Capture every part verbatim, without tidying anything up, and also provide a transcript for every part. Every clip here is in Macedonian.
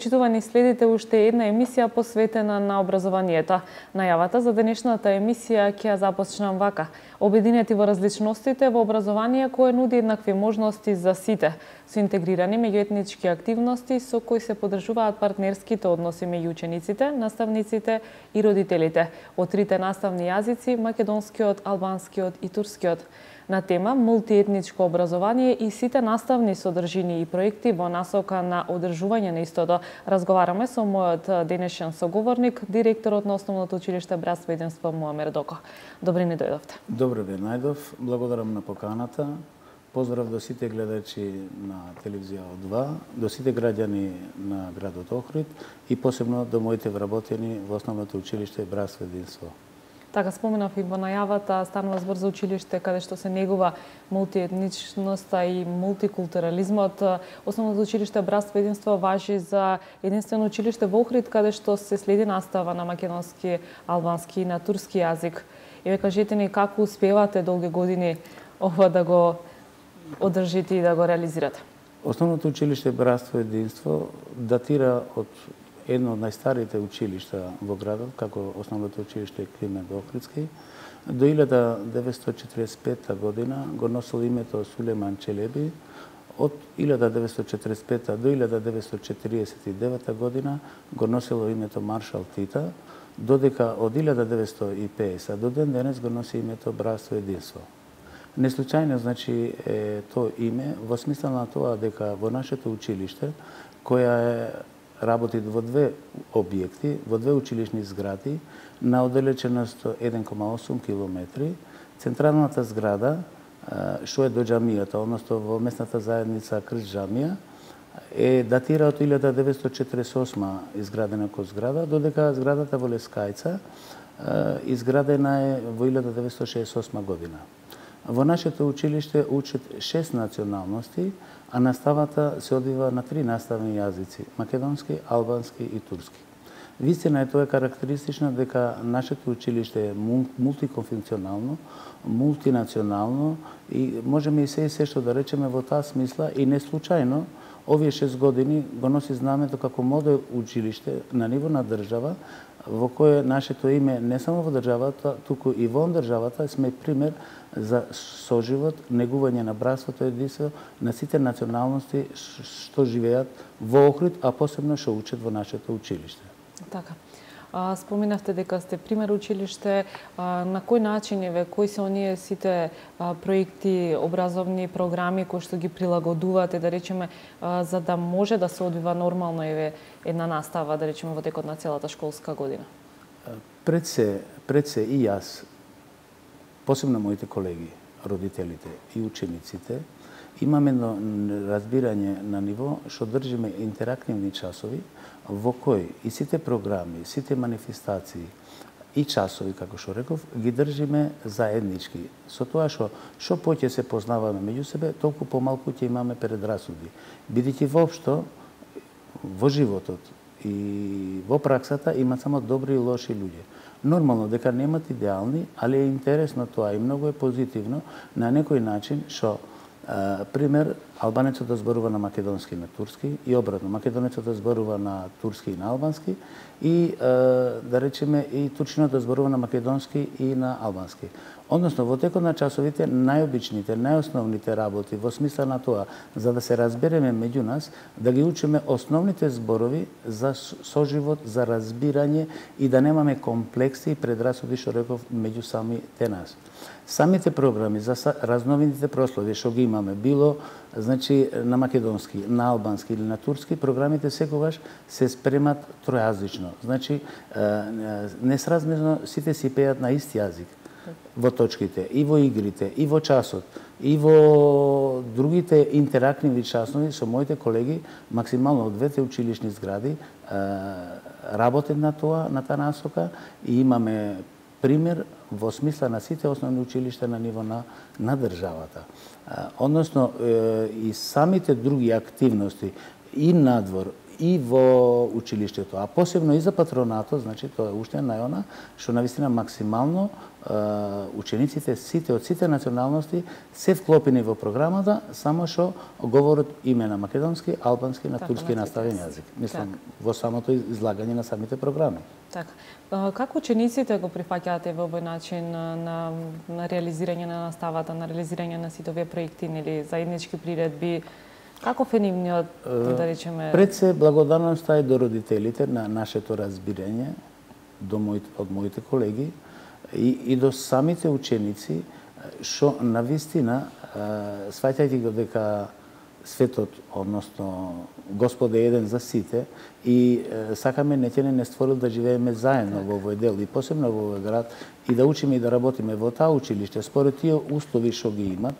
почитувани, следите уште една емисија посветена на образованието. Најавата за денешната емисија ќе ја започнам вака. Обединети во различностите во образование кое нуди еднакви можности за сите, со интегрирани меѓуетнички активности со кои се поддржуваат партнерските односи меѓу учениците, наставниците и родителите од трите наставни јазици, македонскиот, албанскиот и турскиот. На тема мултиетничко образование и сите наставни содржини и проекти во насока на одржување на истото разговараме со мојот денешен соговорник, директорот на Основното училиште Братство и единство Муамер Доко. Добре ни дојдовте. Добре ве најдов, благодарам на поканата. Поздрав до сите гледачи на телевизија О два, до сите граѓани на градот Охрид и посебно до моите вработени во Основното училиште Братство и единство. Така споменав и во најавата, станува збор за училиште каде што се негува мултиетничноста и мултикултурализмот. Основното училиште Братство и единство важи за единствено училиште во Охрид каде што се следи настава на македонски, албански и на турски јазик. И ве кажете ни како успевате долги години ова да го одржите и да го реализирате? Основното училиште Братство и единство датира од едно од најстарите училишта во градот, како Основното училиште Климент Охридски. До илјада деветстотини четиридесет и пета година го носел името Сулеман Челеби. Од илјада деветстотини четиридесет и пета до илјада деветстотини четиридесет и девета година го носило името Маршал Тита, додека од илјада деветстотини и педесета до ден денес го носи името Братство и единство. Неслучајно, значи, е тоа име во смисла на тоа дека во нашето училиште, која е работи во две објекти, во две училишни згради, на оддалеченост еден кома осум километри. Централната зграда, што е до џамијата, односно во местната заедница Крст џамија, е датира од илјада деветстотини четиридесет и осма изградена ко зграда, додека зградата во Лескајца изградена е во илјада деветстотини шеесет и осма година. Во нашето училиште учат шест националности, а наставата се одвива на три наставни јазици – македонски, албански и турски. Вистина е тоа е карактеристично дека нашето училиште е мултиконфункционално, мултинационално и можеме и се и се што да речеме во таа смисла и не случајно овие шест години го носи знамето како модел училиште на ниво на држава, во кое нашето име не само во државата, туку и во државата сме пример за соживот, негување на братството и единство на сите националности што живеат во Охрид, а посебно што учат во нашето училиште. Така. А, споминавте дека сте пример училиште. А, на кој начин еве, кои се оние сите а, проекти, образовни програми кои што ги прилагодувате, да речеме, а, за да може да се одвива нормално еве една настава, да речеме, во текот на целата школска година? Пред се, пред се и јас, посебно моите колеги, родителите и учениците, имаме едно разбирање на ниво што држиме интерактивни часови во кои и сите програми, сите манифестации и часови, како што реков, ги држиме заеднички. Со тоа што што поќе се познаваме меѓу себе, толку помалку ќе имаме предрасуди. Бидејќи воопшто во животот и во праксата има само добри и лоши луѓе. Нормално дека немат идеални, али е интересно тоа и многу е позитивно на некој начин што пример, албанецот да зборува на македонски и на турски и обратно, македонецот да зборува на турски и на албански и да речеме и турчинот да зборува на македонски и на албански. Односно, во текот на часовите, најобичните, најосновните работи, во смисла на тоа, за да се разбереме меѓу нас, да ги учиме основните зборови за соживот, за разбирање и да немаме комплекси и предрасуди, што реков, меѓу самите нас. Самите програми за разновидните прослави што ги имаме, било значи на македонски, на албански или на турски, програмите секогаш се спремат тројазично. Значи несразмерно сите си пеат на ист јазик во точките, и во игрите, и во часот, и во другите интерактивни часови со моите колеги, максимално од двете училишни згради, работат на тоа, на таа насока и имаме пример во смисла на сите основни училишта на ниво на, на државата. Односно, и самите други активности и надвор, и во училиштето, а посебно и за патронатот, значи тоа е уште најона што навистина максимално учениците сите од сите националности се вклопени во програмата, само што говорат име на македонски, албански, на турски наставен јазик. Мислам, во самото излагање на самите програми. Така. Како учениците го прифаќаате во овој начин на, на реализирање на наставата, на реализирање на сите овие проекти или заеднички приредби? Каков е нивниот, да речеме... Пред се благодарноста е до родителите на нашето разбирање, до моите, од моите колеги и, и до самите ученици, што навистина, сваќајќи го дека светот, односно Господ е еден за сите и сакаме неќе не створил да живееме заедно во овој дел и посебно во овој град и да учиме и да работиме во таа училиште според тие услови што ги имат.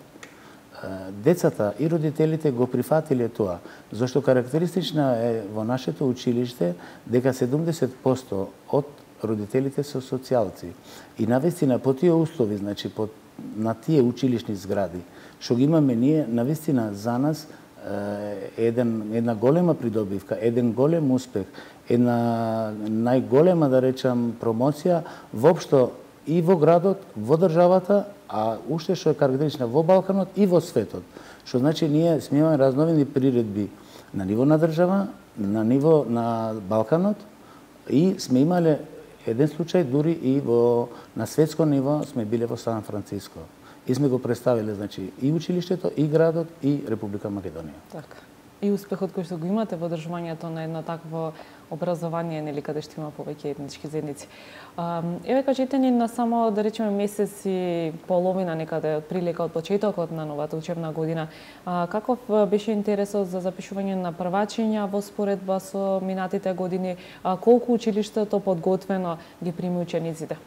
Децата и родителите го прифатиле тоа, зашто карактеристична е во нашето училиште дека седумдесет проценти од родителите се социјалци. И навистина по тие услови, значи по, на тие училишни згради, што ги имаме ние, навистина за нас еден, една голема придобивка, еден голем успех, една најголема, да речам, промоција воопшто и во градот, во државата, а уште што е карактеристична во Балканот и во светот. Што значи ние сме имаме разновидни приредби на ниво на држава, на ниво на Балканот и сме имале еден случај дури и во на светско ниво сме биле во Сан Франциско. И сме го представиле, значи, и училиштето, и градот, и Република Македонија. Така. И успехот кој што го имате во одржувањето на едно такво образование, нели, каде што има повеќе етнички заедници. Еве, кажете ни на само, да речеме, месец и половина некаде од прилика од почетокот на новата учебна година. Каков беше интересот за запишување на првачиња во споредба со минатите години? Колку училиштето подготвено ги прими учениците?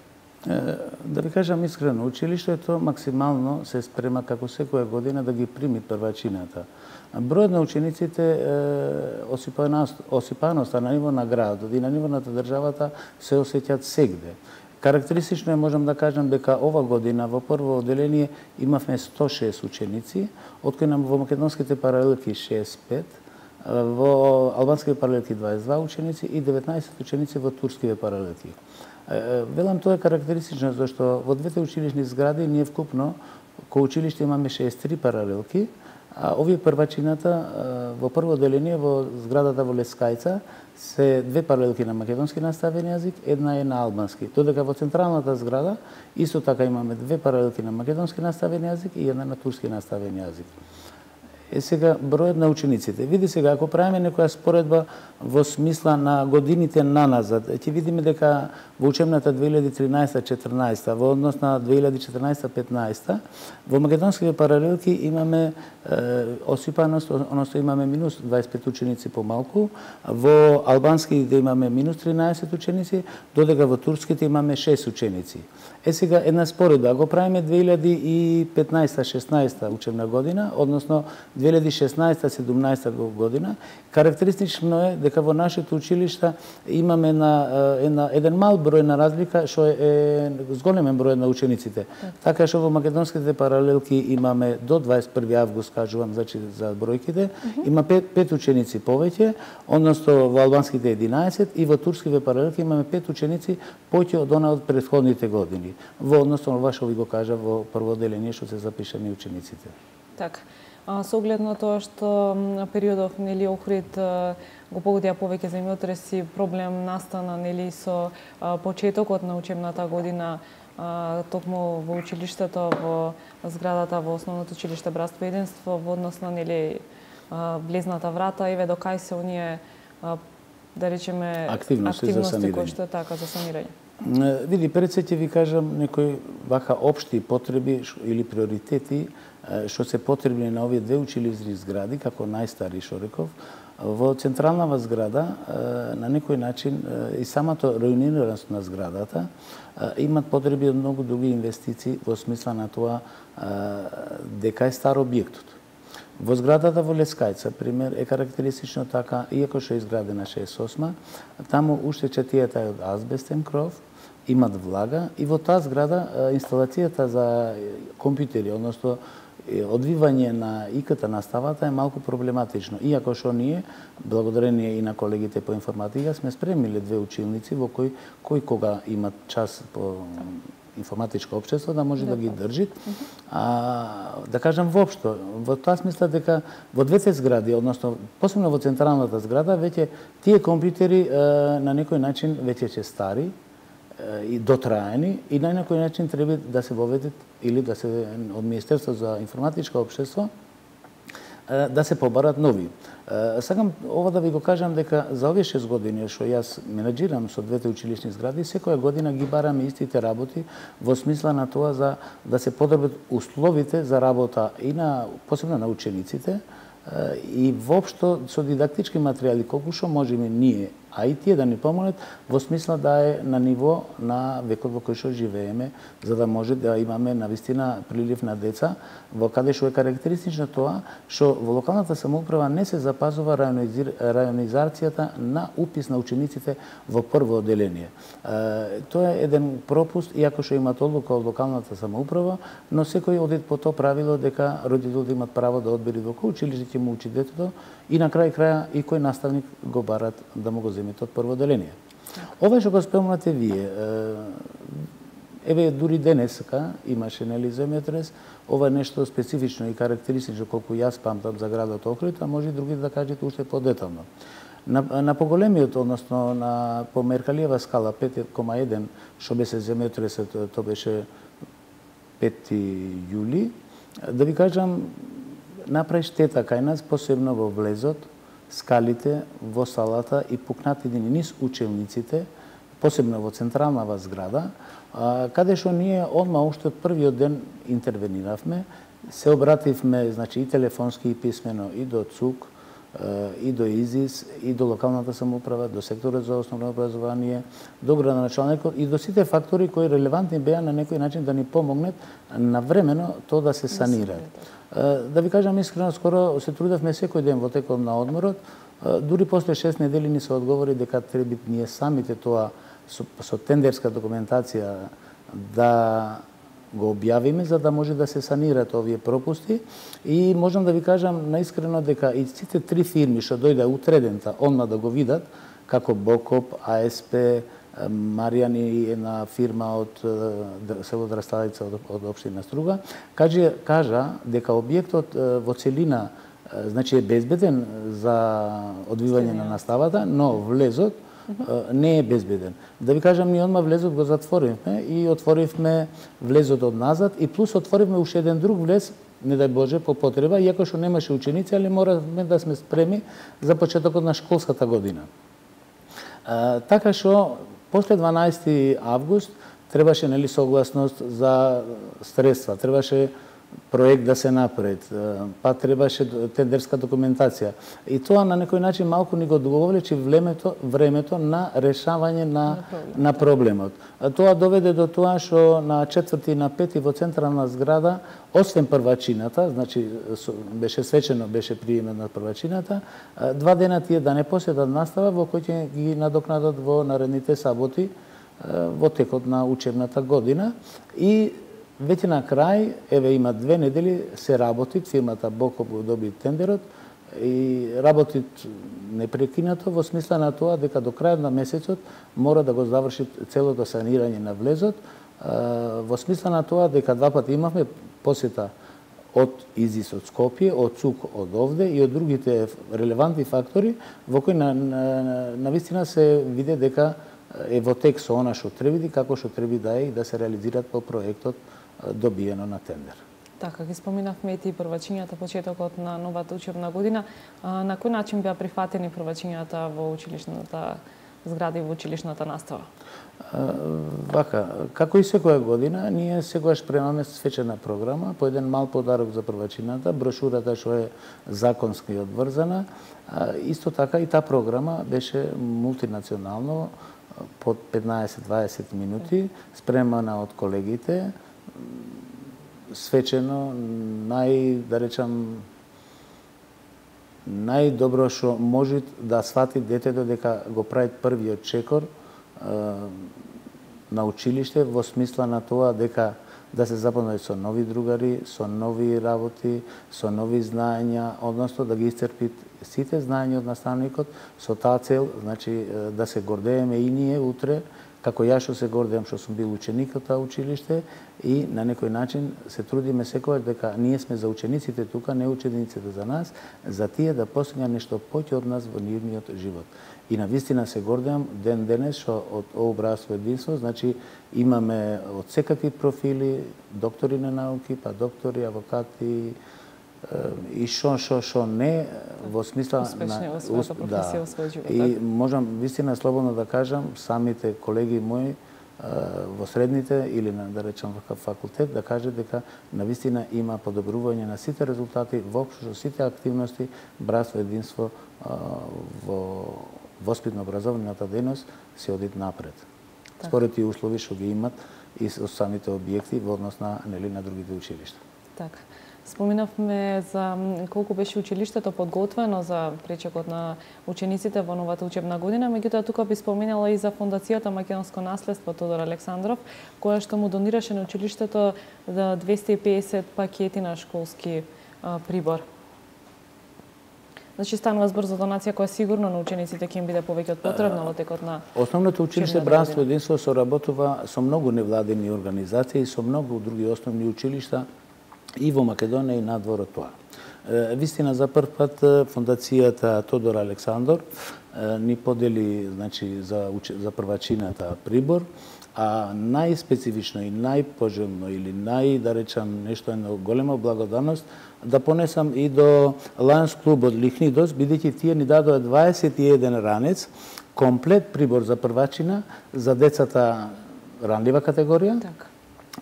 Да ви кажам искрено, училиштето максимално се спрема како секоја година да ги прими првачината. Бројот на учениците, осипаноста на ниво на градот и на ниво на државата се осеќаат сегде. Карактеристично е, можам да кажам, дека ова година во прво одделение имавме сто шест ученици, од кои во македонските паралелки шеесет и пет, во албанските паралелки дваесет и два ученици и деветнаесет ученици во турските паралелки. Велам, тоа е карактеристично, зашто во двете училишни згради ние вкупно ко училиште имаме шеесет и три паралелки, а овие првачината во прво одделение во зградата во Лескајца се две паралелки на македонски наставен јазик, една е на албански. Додека во централната зграда исто така имаме две паралелки на македонски наставен јазик и една на турски наставен јазик. Е сега бројот на учениците. Види сега, ако правиме некоја споредба во смисла на годините наназад, ќе видиме дека во учебната две илјади и тринаесета четрнаесета, во однос на две илјади и четрнаесета петнаесета, во македонските паралелки имаме е, осипаност, односно имаме минус дваесет и пет ученици помалку, во албанските имаме минус тринаесет ученици, додека во турските имаме шест ученици. Е сега една споредба, ако правиме две илјади и петнаесета шеснаесета учебна година, односно две илјади и шеснаесета седумнаесета година, карактеристично е дека во нашето училишта имаме една, една, еден мал број на разлика, што е зголемен број на учениците. Така што во македонските паралелки имаме до дваесет и први август, кажувам, значи за бројките, има пет, пет ученици повеќе, односно во албанските единаесет и во турските паралелки имаме пет ученици повеќе од она од претходните години. Во односно ова што ви го кажа во прво одделение што се запишани учениците. Така. Со оглед на тоа што периодов, нели, Охрид го погодија повеќе земјотреси, проблем настана, нели, со почетокот на учебната година, токму во училиштето, во зградата во основното училиште Братство и единство, во однос на, нели, влезната врата, еве до кај се оние, да речеме, активности, активности за кои што е така за санирање. Види, пред се ќе ви кажам некои вака општи потреби или приоритети што се потребни на овие две училишни згради, како најстари, што реков. Во централната зграда, на некој начин, и самото реунираност на зградата, имат потреби од многу други инвестиции во смисла на тоа дека е стар објектот. Во зградата во Лескајца, пример, е карактеристично така, иако што е изградена шеесет и осма, таму уште четијата е од азбестен кров, имат влага и во таа зграда инсталацијата за компјутери, односно одвивање на И К Т наставата е малку проблематично. Иако што ние, благодарение и на колегите по информатика, сме спремиле две училници во кои, кои кога имат час по информатичко општество да може да ги држи. А, да кажам воопшто, во тоа смисла дека во двете згради, односно посебно во централната зграда, веќе тие компјутери на некој начин веќе се стари и дотраени и на некој начин треба да се воведат или да се од Министерство за информатичко општество да се побарат нови. Сакам ова да ви го кажам дека за овие шест години што јас менаџирам со двете училишни згради, секоја година ги бараме истите работи во смисла на тоа за да се подобрат условите за работа и на посебно на учениците и воопшто со дидактички материјали колку што можеме ние, а и тие да ни помогнат во смисла да е на ниво на векот во кој што живееме, за да може да имаме навистина прилив на деца, во каде што е карактеристично тоа што во локалната самоуправа не се запазува рајонизацијата на упис на учениците во прво одделение. Тоа е еден пропуст, иако што имат одлука од локалната самоуправа, но секој оди по тоа правило дека родителите имат право да одбери во кој училиште ќе му учи детето и на крај краја и кој наставник го барат да му го земете од прво одделение. Ова што го спомнате вие, еве дури денеска имаше нели земјотрес, ова е нешто специфично и карактеристично колку јас памтам за градот Охрид, а може и други да кажете уште подетално. На, на поголемиот, односно на по Меркалиева скала пет кома еден, што беше земјотресот, тоа беше пети јули, да ви кажам, направи штета кај нас, посебно во влезот, скалите, во салата и пукнатини низ училниците, посебно во централната зграда, каде што ние одма уште од првиот ден интервениравме, се обративме, значи, и телефонски и писмено и до ЦУК, и до ИЗИС, и до локалната самоуправа, до секторот за основно образование, до градоначалникот и до сите фактори кои релевантни беа на некој начин да ни помогнат навремено тоа да се санира. Да ви кажам искрено, скоро се трудевме секој ден во текот на одморот, дури после шест недели ни се одговори дека треба ние самите тоа со, со тендерска документација да го објавиме за да може да се санират овие пропусти и можам да ви кажам наискрено дека и сите три фирми што дојде утредента одма да го видат, како Бокоп, А С П, Маријани, една фирма од село Драсталица од, од општина Струга, кажа, кажа дека објектот во целина значи е безбеден за одвивање на наставата, но влезот не е безбеден. Да ви кажам, ние одма влезот го затворивме и отворивме влезот од назад и плюс отворивме уште еден друг влез, не дај Боже, по потреба, иако што немаше ученици, али моравме да сме спреми за почетокот на школската година. А, така што после дванаесети август требаше нели согласност за средства, требаше проект да се направи, па требаше тендерска документација. И тоа на некој начин малку ни го договлечи времето, времето на решавање на, на проблемот. Тоа доведе до тоа што на четврти и на пети во централна зграда, освен првачината, значи беше свечено, беше приемен на првачината, два дена тие да не поседат настава во кој ќе ги надокнадат во наредните саботи во текот на учебната година и веќе на крај, еве има две недели, се работи, фирмата Бокоп го доби тендерот и работи непрекинато во смисла на тоа дека до крајот на месецот мора да го заврши целото санирање на влезот, во смисла на тоа дека два пати имавме посета од ИЗИС од Скопје, од ЦУК од овде и од другите релевантни фактори во кои на, на, на вистина се виде дека е во тек со она што треба и како што треба да е и да се реализираат по проектот добиено на тендер. Така, ги споминавме и првачињата почетокот на новата учебна година. На кој начин беа прифатени првачињата во училишната зграда и во училишната настава? Вака, како и секоја година, ние секогаш премаме свечена програма, по еден мал подарок за првачината, брошурата што е законски одврзана. Исто така и таа програма беше мултинационално, под петнаесет до дваесет минути, спремана од колегите, свечено, нај, да речам, најдобро што може да свати детето дека го прави првиот чекор е, на училиште во смисла на тоа дека да се запознаат со нови другари, со нови работи, со нови знаења, односно да ги исцрпи сите знаења од наставникот со таа цел, значи да се гордееме и ние утре, како ја што се гордеам што сум бил ученик од таа училиште и на некој начин се трудиме секогаш дека ние сме за учениците тука, не учениците за нас, за тие да постигнат нешто поќе од нас во нивниот живот. И на вистина се гордеам ден денес што од ово братство единство, значи имаме од секакви профили, доктори на науки, па доктори, авокати, и шо, шо, шо не, во смисла успешни во својата професија, во својот живот. И можам вистина слободно да кажам, самите колеги мои во средните или на, да речам, во факултет, да кажат дека на вистина има подобрување на сите резултати, воопшто сите активности, братство единство во воспитно-образовната дејност се одит напред. Так. Според тие услови што ги имат и со самите објекти во однос на, нели, на другите училишта. Така. Споминавме за колку беше училиштето подготвено за пречекот на учениците во новата учебна година, меѓутоа тука би споменала и за Фондацијата Македонско наследство Тодор Александров, која што му донираше на училиштето за двесте и педесет пакети на школски а, прибор. Значи станува збор за донација која сигурно на учениците ќе им биде повеќе од потребно во текот на Основното училиште Братство единство соработува со многу невладени организации и со многу други основни училишта и во Македонија и надвор од тоа. Вистина, за прв пат Фондацијата Тодор Александров ни подели, значи, за, за првачината прибор, а најспецифично и најпожелно или нај, да речам, нешто една голема благодарност да понесам и до Лајонс клубот Лихнидос, бидејќи тие ни дадоа дваесет и еден ранец, комплет прибор за првачина за децата ранлива категорија. Так.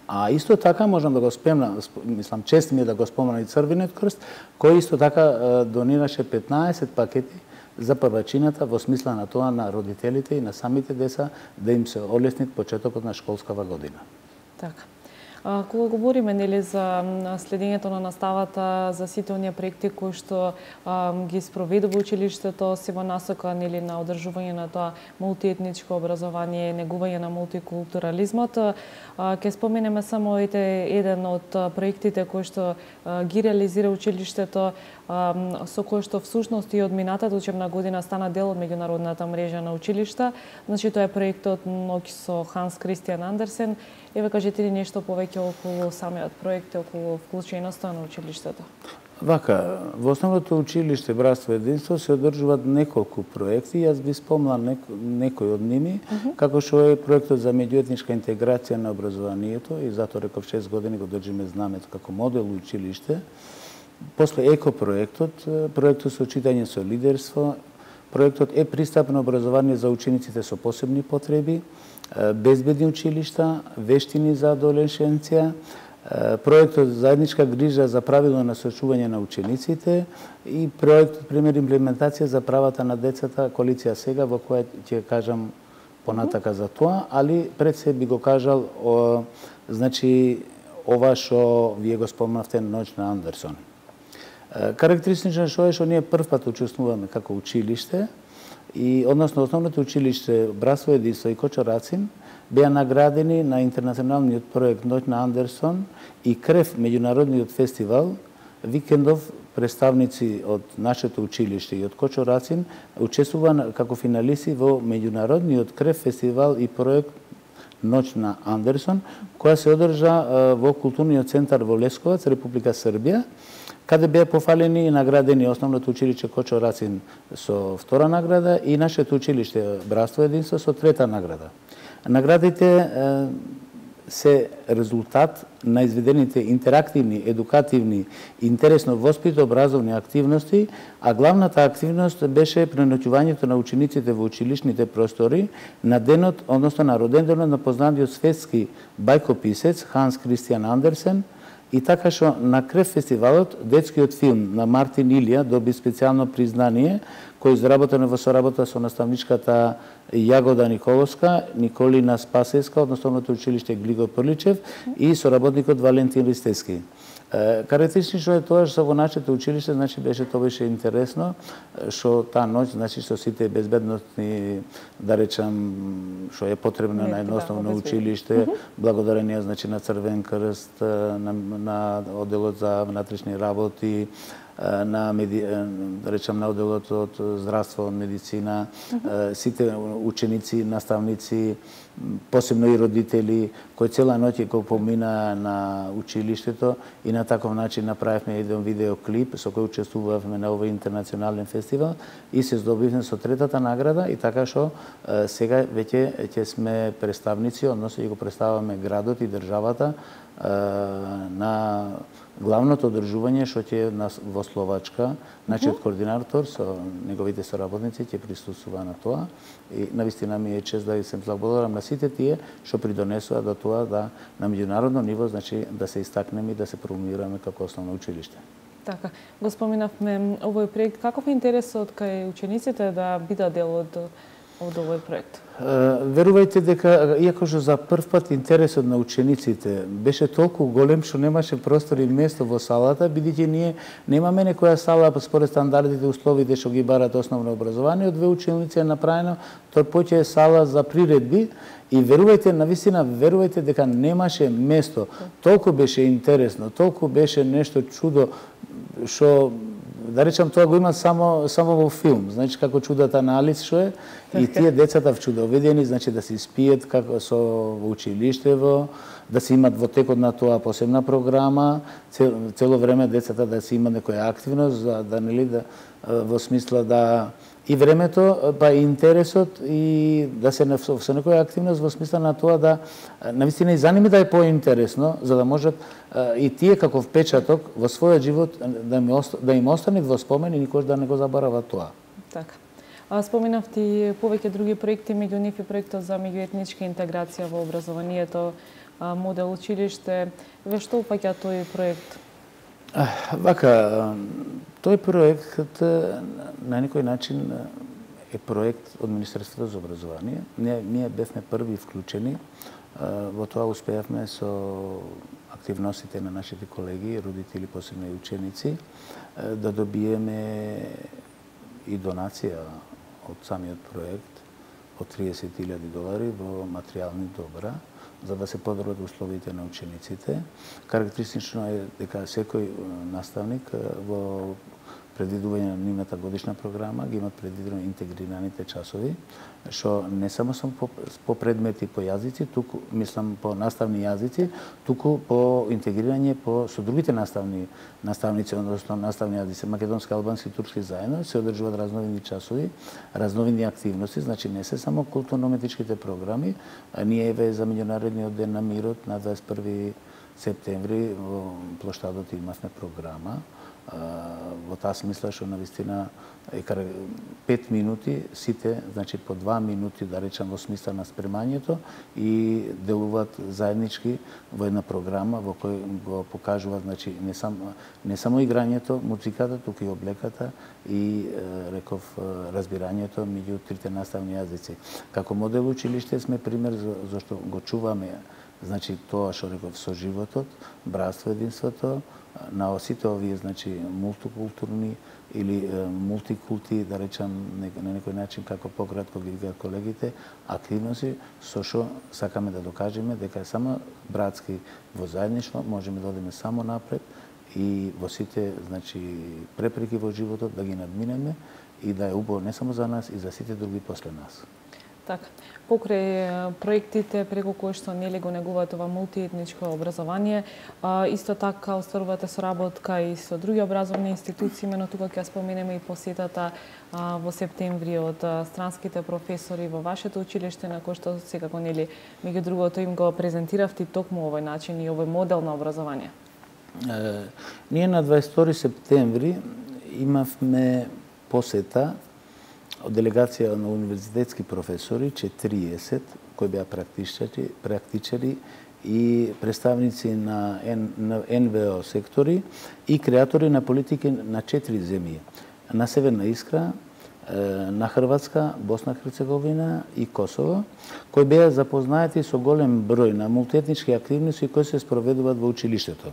А исто така можам да го спомнам, мислам, чест ми е да го спомнам и Црвениот крст, кој исто така донираше петнаесет пакети за првачината во смисла на тоа на родителите и на самите деца да им се олеснит почетокот на школскава година. Така. Кога говориме, нели, за следењето на наставата, за сите оние проекти кои што а, ги спроведу во училиштето, се во насока, нели, на одржување на тоа мултиетничко образование, негување на мултикултурализмот, ќе споменеме само еден од проектите кои што а, ги реализира училиштето, а, со кој што всушност и од минатата учебна година стана дел од меѓународната мрежа на училишта. Значи тоа е проектот Ноќ со Ханс Кристијан Андерсен. Еве, кажете ни нешто повеќе околу самиот проект, околу вклученоста на училиштето. Вака, во основното училиште Братство единство се одржуваат неколку проекти. Јас би спомнал неко, некој од ними, uh -huh. како што е проектот за меѓуетничка интеграција на образованието, и затоа реков шест години го држиме знамето како модел училиште. После еко проектот, проектот со читање со лидерство, проектот е пристапно образование за учениците со посебни потреби, безбедни училишта, вештини за адолешенција, проектот заедничка грижа за правилно насочување на учениците и проектот пример имплементација за правата на децата, коалиција сега, во која ќе кажам понатака за тоа, али пред се би го кажал о, значи ова што вие го спомнавте, Ноќ на Андерсон. Карактеристично што е што ние прв пат учествуваме како училиште, и односно основното училиште Братство единство и Кочо Рацин беа наградени на интернационалниот проект Ноќ на Андерсон и Крев меѓународниот фестивал. Викендов представници од нашето училиште и од Кочо Рацин учествува како финалисти во меѓународниот Крев фестивал и проект Ноќ на Андерсон, која се одржа во културниот центар во Лесковац, Република Србија, каде беа пофалени и наградени основното училиште Кочо Рацин со втора награда и нашето училиште Братство единство со трета награда. Наградите е, се резултат на изведените интерактивни, едукативни, интересно воспито-образовни активности, а главната активност беше преноќувањето на учениците во училишните простори на денот, односно на роденденот на познатиот светски бајкописец Ханс Кристијан Андерсен. И така што на Крев фестивалот детскиот филм на Мартин Илија доби специјално признание, кој е изработено во соработа со наставничката Јагода Николовска, Николина Спасеска од Основното училиште Глиго Прличев и соработникот Валентин Ристески. Карактеристично е тоа што во нашето училиште, значи беше тоа беше интересно, што таа ноќ, значи со сите безбедносни, да речам, што е потребно на едно основно училиште, благодарение значи на Црвен крст, на, на одделот за внатрешни работи, на меди... да речам на одделот од здравство, медицина, сите ученици, наставници, посебно и родители, кои цела ноќ го помина на училиштето и на таков начин направивме еден видеоклип со кој учествувавме на овој интернационален фестивал и се здобивме со третата награда и така што сега веќе ќе сме представници, односно ќе го представаме градот и државата на главното одржување што ќе во Словачка, значи од координатор со неговите соработници ќе присуствува на тоа и навистина ми е чест да се благодарам на сите тие што придонесува до тоа да на меѓународно ниво значи да се истакнеме и да се промовираме како основно училиште. Така, го споминавме овој проект, каков е интересот кај учениците да бидат дел од од овој проект? Верувајте дека, иако што за прв пат интересот на учениците беше толку голем што немаше простор и место во салата, бидејќи ние немаме некоја сала според стандардите условите што ги барат основно образование, од две училници е направено, тоа поќе е сала за приредби и верувајте, навистина, верувајте дека немаше место. Толку беше интересно, толку беше нешто чудо што да речам тоа го има само само во филм, значи како чудата на Алис што е и тие децата вчудоведени, значи да се испиет како со училиштево, да се имат во текот на тоа посебна програма, цел, цело време децата да се има некоја активност, за да нели да во смисла да и времето, па и интересот и да се со некоја активност во смисла на тоа да навистина и за ними да е поинтересно, за да можат и тие како впечаток во својот живот да им да им остане во спомен и никош да не го заборават тоа. Така. А споминав ти повеќе други проекти, меѓу нив и проектот за меѓуетничка интеграција во образованието, модел училиште. Ве што упаќа тој проект? Вака, тој проект на некој начин е проект од Министерството за образование. Ние, ние бевме први вклучени. Во тоа успеавме со активностите на нашите колеги, родители, посебно и ученици, да добиеме и донација од самиот проект од триесет илјади долари во материјални добра, за да се подобрат условите на учениците. Карактеристично е дека секој наставник во предвидување на нивната годишна програма ги имат предвидено интегрираните часови, што не само само по, по предмети по јазици, туку мислам по наставни јазици, туку по интегрирање по со другите наставни наставници, односно наставни јазици, македонски, албански, турски заедно се одржуваат разновидни часови, разновидни активности, значи не се само културно-уметничките програми, а ние еве за меѓународниот ден на мирот на дваесет и први септември во плоштадот имавме програма. Во таа смисла што навистина е пет минути сите, значи по два минути да речам во смисла на спремањето и делуваат заеднички во една програма во кој го покажуваат значи не само не само играњето, музиката, туку и облеката и реков разбирањето меѓу трите наставни јазици. Како модел училиште сме пример за зашто го чуваме значи тоа што реков со животот, братство, единството, на сите овие значи мултикултурни или е, мултикулти, да речам на некој начин како пократко ги викаат колегите, активности со што сакаме да докажеме дека е само братски во заедништво можеме да одиме само напред и во сите значи препреки во животот да ги надминеме и да е убаво не само за нас и за сите други после нас. Така, покрај проектите преку кои што нели го негуваат ова мултиетничко образование, а, исто така остварувате соработка и со други образовни институции, имено тука ќе споменеме и посетата а, во септември од а, странските професори во вашето училиште, на кој што секако нели меѓу другото им го презентиравте токму овој начин и овој модел на образование. Е, ние на дваесет и втори септември имавме посета од делегација на универзитетски професори, четириесет, кои беа практичари, практичари и представници на ен ве о сектори и креатори на политики на четири земји. На Северна Искра, на Хрватска, Босна Херцеговина и Косово, кои беа запознаати со голем број на мултиетнички активности кои се спроведуваат во училиштето.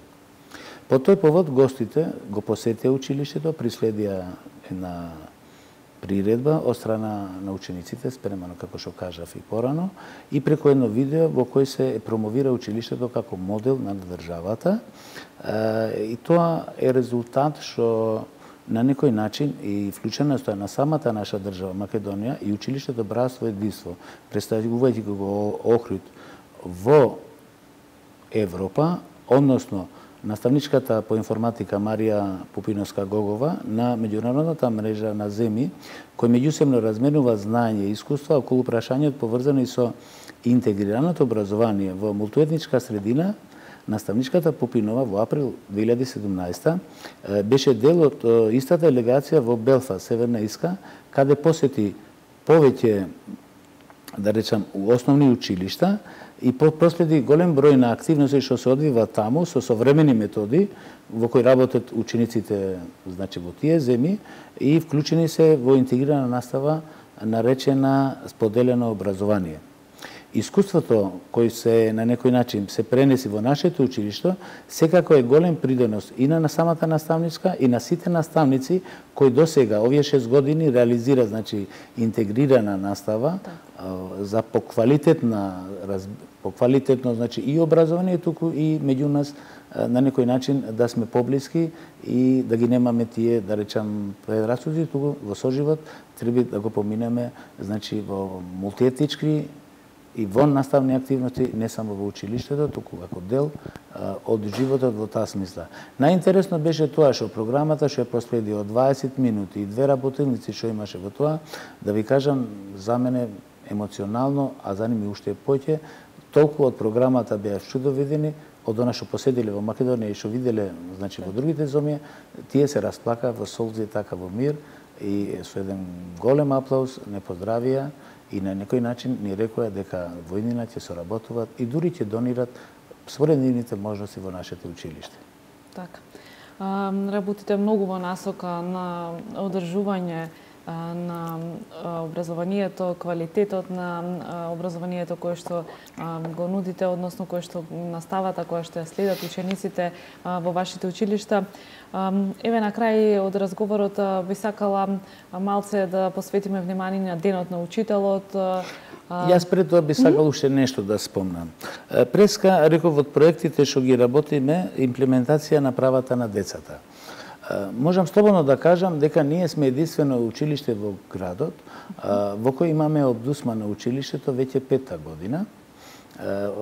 По тој повод гостите го посетија училиштето, приследија една приредба од страна на учениците, спремено како што кажав и порано, и преку едно видео во кој се промовира училиштето како модел на државата. И тоа е резултат што на некој начин и вклученоста на самата наша држава Македонија и училиштето Братство и единство, представувајќи го Охрид во Европа, односно наставничката по информатика Марија Пупиновска-Гогова на меѓународната мрежа на земи, кои меѓусебно разменува знаење и искуства околу прашањето поврзани со интегрираното образование во мултиетничка средина. Наставничката Пупинова во април две илјади и седумнаесета беше дел од истата делегација во Белфаст, Северна Ирска, каде посети повеќе, да речам, основни училишта и проследи голем број на активности што се одвива таму со современи методи во кои работат учениците, значи во тие земји, и вклучени се во интегрирана настава наречена споделено образование. Искуството кој се на некој начин се пренеси во нашето училиште секако е голем придонос и на самата наставничка и на сите наставници кои досега овие шест години реализира, значи, интегрирана настава за поквалитетна поквалитетно, значи, и образование туку и меѓу нас на некој начин да сме поблиски и да ги немаме тие, да речам, предрасуди, туку во соживот треба да го поминеме, значи, во мултиетнички и вон наставни активности, не само во училиштето, туку како дел а, од животот во таа смисла. Најинтересно беше тоа што програмата што ја проследи од дваесет минути и две работилници што имаше во тоа, да ви кажам, за мене емоционално, а за ними уште поќе, толку од програмата беа чудовидени, од она што поседиле во Македонија и што виделе, значи, во другите зоми, тие се расплака во солзи, така во мир, и со еден голем аплауз не поздравија и на некој начин ни рекоа дека во иднина ќе соработуваат и дури ќе донират според нивните можности во нашето училиште. Така. Работите многу во насока на одржување на образованието, квалитетот на образованието кое што го нудите, односно кое што наставата која што ја следат учениците во вашите училишта. Еве на крај од разговорот би сакала малце да посветиме внимание на денот на учителот. Јас пред тоа би сакал уште нешто да спомнам. Преска реков од проектите што ги работиме имплементација на правата на децата. Можам слободно да кажам дека ние сме единствено училиште во градот во кој имаме обдусмано училиштето веќе пета година.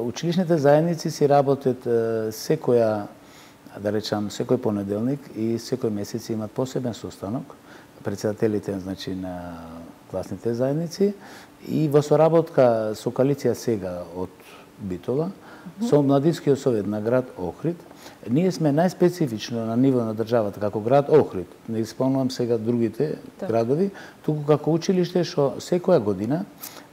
Училишните заедници си работат секоја, да речам, секој понеделник и секој месец имат посебен состанок, председателите, значи, на класните заедници, и во соработка со коалиција сега од Битола, со Младинскиот совет на град Охрид, ние сме најспецифично на ниво на државата, како град Охрид, не исполнувам сега другите так. градови, туку како училиште што секоја година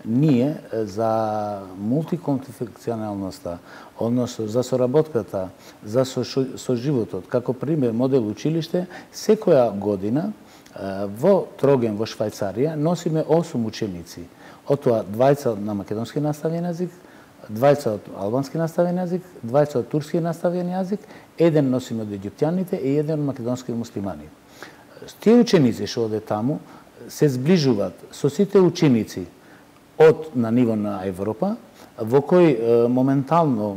ние за мултиконфекционалноста, односно за соработката, за соживотот, како пример модел училиште, секоја година во Троген во Швајцарија носиме осум ученици, од тоа двајца на македонски наставен јазик, двајца од албански наставен јазик, двајца од турски наставен јазик, еден носиме од египтјаните и еден од македонски муслимани. Тие ученици што оде таму се зближуваат со сите ученици од на ниво на Европа, во кој моментално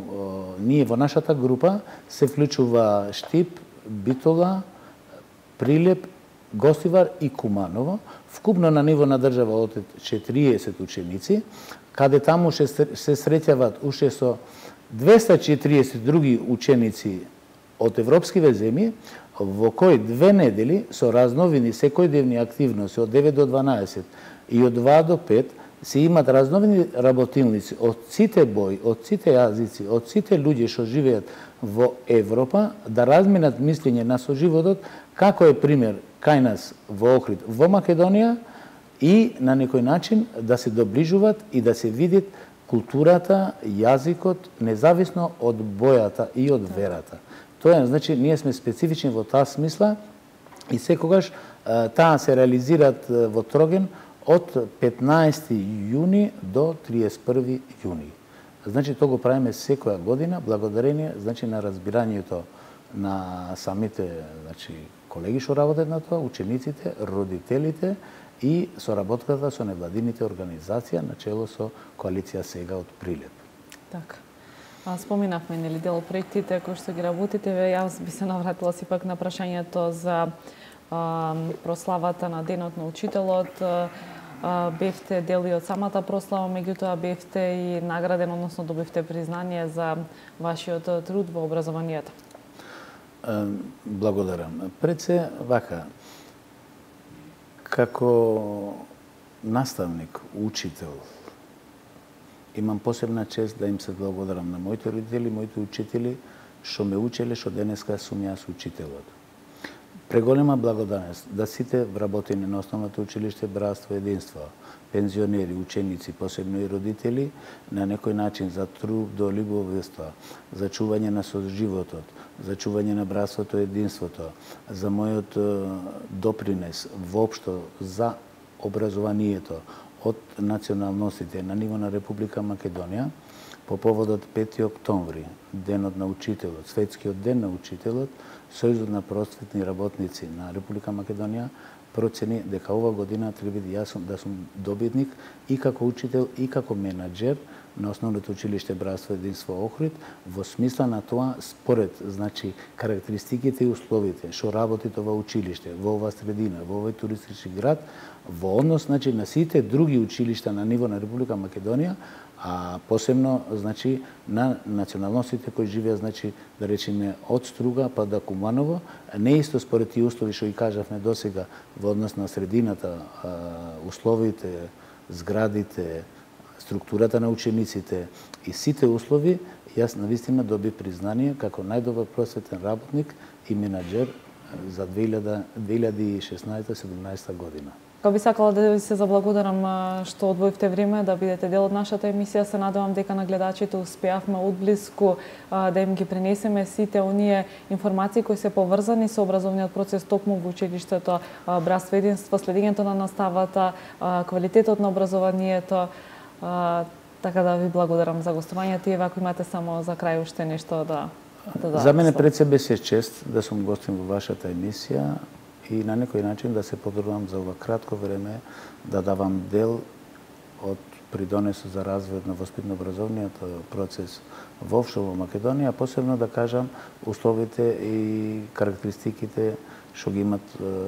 ние во нашата група се вклучува Штип, Битола, Прилеп, Гостивар и Куманово, вкупно на ниво на држава од четириесет ученици, каде таму се среќават уште со двеста и четириесет други ученици од европскиве земји, во кои две недели со разновини секојдневни активности од девет до дванаесет и од два до пет се имат разновини работилници од сите бои, од сите јазици, од сите луѓе што живеат во Европа, да разменат мислење на соживотот, како е пример кај нас во Охрид, во Македонија, и на некој начин да се доближуваат и да се видит културата, јазикот, независно од бојата и од верата. Тоа е, значи, ние сме специфични во таа смисла и секогаш таа се реализираат во Троген од петнаесети јуни до триесет и први јуни. Значи, тоа го правиме секоја година, благодарение, значи, на разбирањето на самите, значи, колеги што работат на тоа, учениците, родителите и соработката со невладините организации на чело со коалиција Сега од Прилеп. Така. А, споминавме нели дел проектите кои што ги работите, јас би се навратила сепак на прашањето за а, прославата на денот на учителот. А, бевте дел и од самата прослава, меѓутоа бевте и награден, односно добивте признание за вашиот труд во образованието. Благодарам. Пред се, вака, како наставник, учител, имам посебна чест да им се благодарам на моите родители, моите учители, што ме учеле, што денеска сум јас учителот. Преголема благодарност да сите вработени на основното училиште Братство Единство, пензионери, ученици, посебно и родители, на некој начин за труд до љубовество, за чување на соживотот, за чување на братството и единството, за мојот допринес воопшто за образованието од националностите на ниво на Република Македонија, по поводот пети октомври, денот на учителот, светскиот ден на учителот, Сојузот на просветни работници на Република Македонија процени дека ова година треба да јас да сум добитник и како учител и како менаџер на основното училиште Братство Единство Охрид, во смисла на тоа според, значи, карактеристиките и условите што работи ова училиште во ова средина, во овој туристички град, во однос, значи, на сите други училишта на ниво на Република Македонија, а посебно, значи, на националностите кои живеат, значи, да речеме, од Струга па до Куманово, не исто според тие услови што и кажавме досега во однос на средината, условите, зградите, структурата на учениците и сите услови, јас навистина доби признание како најдобар просветен работник и менаџер за две илјади и шеснаесетта седумнаесетта година. Како би сакала да ви се заблагодарам што одвоивте време да бидете дел од нашата емисија. Се надевам дека на гледачите успеавме одблиску да им ги пренесеме сите оние информации кои се поврзани со образовниот процес токму во училиштето Братство Единство, следењето на наставата, квалитетот на образованието. Така да ви благодарам за гостувањето и ако имате само за крај уште нешто да да За мене пред себе се чест да сум гостин во вашата емисија и на некој начин да се потрудам за ова кратко време да давам дел од придонесот за развојот на воспитно-образовниот процес воопшто во Македонија, посебно да кажам условите и карактеристиките што ги имат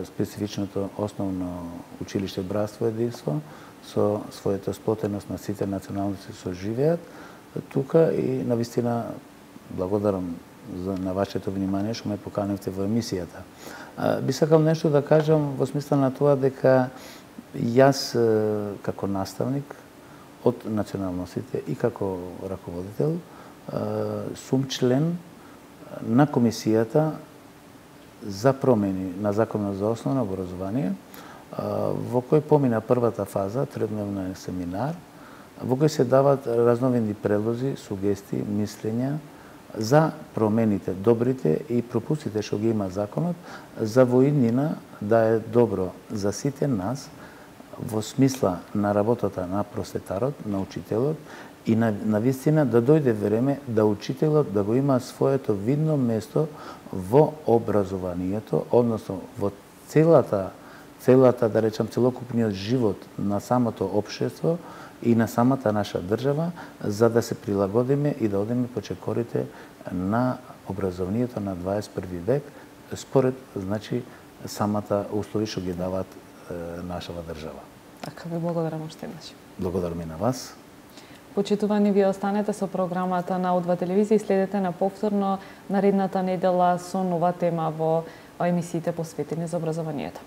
специфичното основно училиште Братство Единство со својата сплотеност на сите националности што живеат тука и навистина благодарам за на вашето внимание што ме поканивте во емисијата. Би сакал нешто да кажам во смисла на тоа дека јас како наставник од националностите и како раководител сум член на комисијата за промени на Законот за основно образование, во кој помина првата фаза, тредневен семинар, во кој се дават разновидни предлози, сугестии, мислења за промените, добрите и пропустите што ги има законот, за во иднина да е добро за сите нас во смисла на работата на просветарот, на учителот и на, на вистина да дојде време да учителот да го има своето видно место во образованието, односно во целата, целата, да речам, целокупниот живот на самото општество и на самата наша држава, за да се прилагодиме и да одиме по чекорите на образованието на дваесет и први век, според, значи, самата услови што ги дават е, нашава држава. Така, ви благодарам уште еднаш. Благодарам и на вас. Почитувани, вие останете со програмата на О два телевизија и следете на повторно наредната недела со нова тема во емисиите посветени за образованието.